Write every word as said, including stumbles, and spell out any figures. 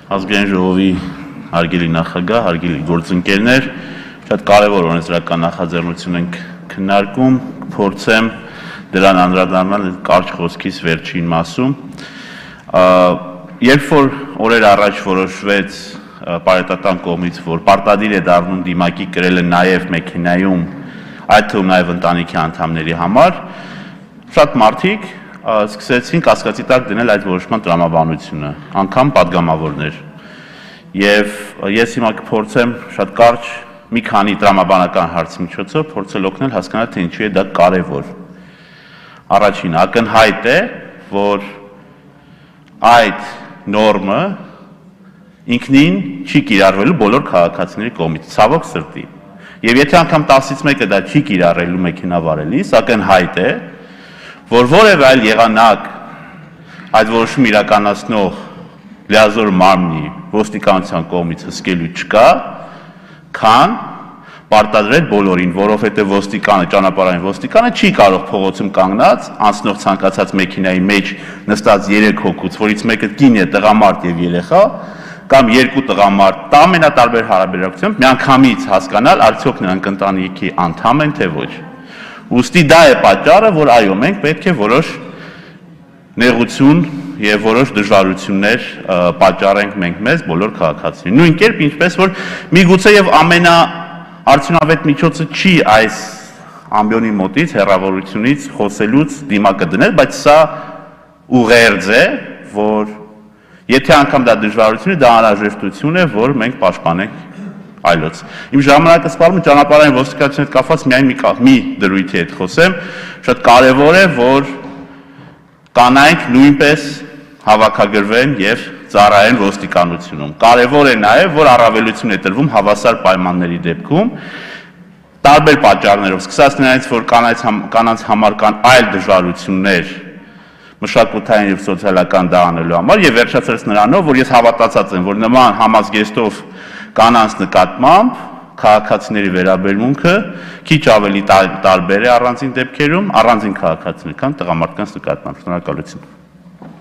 Ազգային ժողովի հարգելի նախագահ, հարգելի գործընկերներ, շատ կարևոր օրենսդրական նախաձեռնություն ենք քննարկում, փորձեմ դրան անդրադառնալ կարճ խոսքիս վերջին մասում։ Երբ որ օրեր առաջ որոշվեց պարետատան կողմից, որ պարտադիր է դառնում դիմակի կրելը նաև մեքենայում, այդ թվում նաև ընտանիքի անդամների համար, շատ մարդիկ սկսեցին կասկածի տակ դնել այդ որոշման տրամաբանությունը, անգամ պատգամավորներ։ Եվ ես հիմա կփորձեմ շատ կարճ մի քանի տրամաբանական հարցի միջոցով փորձել օգնել հասկանալ, թե ինչու է դա կարևոր։ Առաջինը, ակնհայտ է, որ այդ նորմը ինքնին չի կիրառվելու բոլոր քաղաքացիների կողմից, ցավոք սրտի։ Եվ եթե անգամ տասից մեկը դա չի կիրառելու մեքենա վարելիս, ակնհայտ է, որ որևէ այլ եղանակ այդ որոշումը իրականացնող լիազոր մարմնի ոստիկանության կողմից հսկելու չկա, քան պարտադրել բոլորին, որովհետև ոստիկանը, ճանապարհային ոստիկանը չի կարող փողոցում կանգնած անցնող ցանկացած մեքենայի մեջ նստած երեք հոգուց, որից մեկը կին է, տղամարդ եւ երեխա, կամ երկու տղամարդ, ամենատարբեր հարաբերակցությամբ միանգամից հասկանալ, արդյոք նրանք ընտանիքի անդամ են, թե ոչ։ Ուստի դա է պատճառը, որ այո, մենք պետք է որոշ նեղություն եւ որոշ դժվարություններ պատճառենք մենք մեզ բոլոր քաղաքացիներին։ Նույն կերպ ինչպես որ միգուցե եւ ամենաարդյունավետ միջոցը չի այս ամբիոնի մոտից հեռավորությունից խոսելուց դիմակը դնել, բայց սա ուղերձ է, որ եթե անգամ դա դժվարություն է, դա անհրաժեշտություն է, որ մենք պաշտպանենք այլոց։ Իմ ժամանակը սպառում է ճանապարհային ոստիկանության հետ կապված միայն մի, մի դրույթի հետ խոսեմ, շատ կարևոր է, որ կանայք նույնպես հավաքագրվեն եւ ծառայեն ոստիկանությունում։ Կարևոր է նաեւ, որ առավելություն է տրվում հավասար պայմանների դեպքում, տարբեր պատճառներով, սկսած նրանից, որ կանանց, կանանց համար կան այլ դժվարություններ մշակութային եւ սոցիալական դա անելու համար եւ վերջացրած նրանով, որ ես հավատացած եմ, որ նման համազգեստով կանանց նկատմամբ քաղաքացիների վերաբերմունքը քիչ ավելի տարբեր է առանձին դեպքերում, առանձին քաղաքացիներ, քան տղամարդկանց նկատմամբ։ Շնորհակալություն։